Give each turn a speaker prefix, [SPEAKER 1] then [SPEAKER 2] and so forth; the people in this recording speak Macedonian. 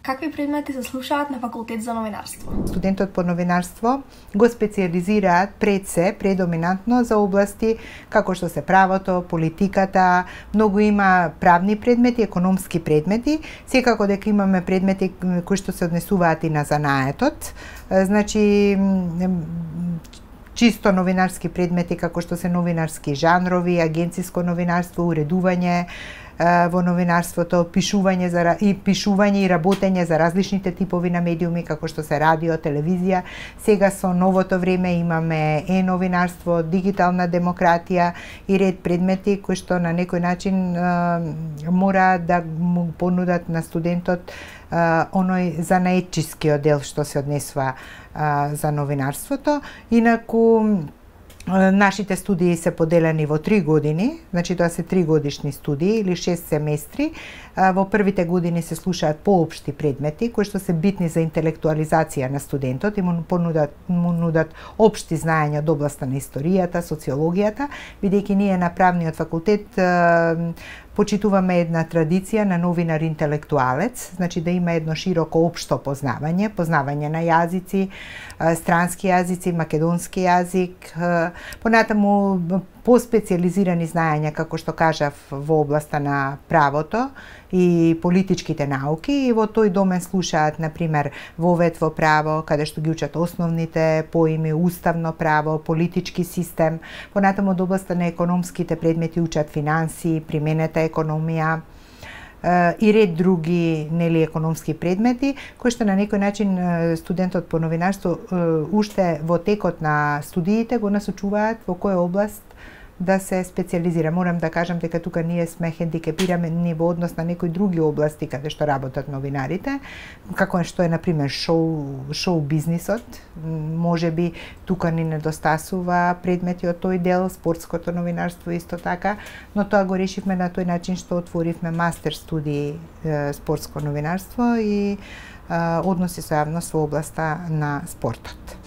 [SPEAKER 1] Какви предмети се слушаат на факултет за новинарство?
[SPEAKER 2] Студентот по новинарство го специализираат предоминантно за области како што се правото, политиката, многу има правни предмети, економски предмети, секако дека имаме предмети кои што се однесуваат и на занаетот. Значи чисто новинарски предмети како што се новинарски жанрови, агенциско новинарство, уредување во новинарството, пишување и работење за различните типови на медиуми како што се радио, телевизија. Сега со новото време имаме новинарство, дигитална демократија и ред предмети кои што на некој начин мора да му понудат на студентот оној занаетчискиот дел што се однесува за новинарството. Инаку нашите студии се поделени во 3 години, значи тоа се 3 годишни студии или 6 семестри. Во првите години се слушаат поопшти предмети кои што се битни за интелектуализација на студентот и му нудат општи знаења од областа на историјата, социологијата, бидејќи ние на правниот факултет почитуваме една традиција на новинар-интелектуалец, значи да има едно широко општо познавање на јазици, странски јазици, македонски јазик, понатаму поспециализирани знаења, како што кажав, во областа на правото и политичките науки, и во тој домен слушаат, например, вовед во право, каде што ги учат основните поими, уставно право, политички систем, понатаму од областа на економските предмети учат финанси, применета економија, и ред други економски предмети, кои што на некој начин студентот по новинарство уште во текот на студиите го насочуваат во која област да се специализира. Морам да кажам дека тука ние сме хендикепирани во однос на некои други области каде што работат новинарите, како што е например шоу бизнисот. Можеби тука ни недостасува предмети од тој дел, спортското новинарство исто така, но тоа го решивме на тој начин што отворивме мастер студии спортско новинарство и односи со јавност во областа на спортот.